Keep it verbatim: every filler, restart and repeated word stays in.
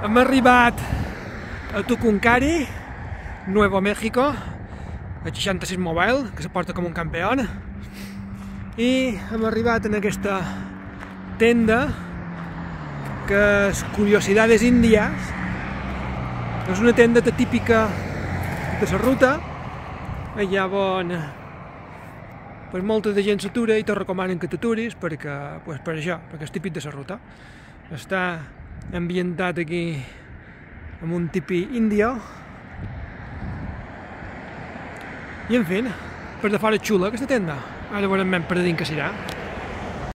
Hem arribat a Tucumcari, Nuevo México, a seixanta-sis Mobile, que se porta com un campió, i hem arribat en aquesta tenda que és Curiosidades Indias. És una tenda típica de la ruta, allà on pues, molta de gent s'atura i te recomanen que t'aturis perquè, pues, per això, perquè és típic de la ruta. Està ambientat aquí amb un tipi índio i en fi, per de fora és xula aquesta tenda. Ara veurem ben per dins que serà.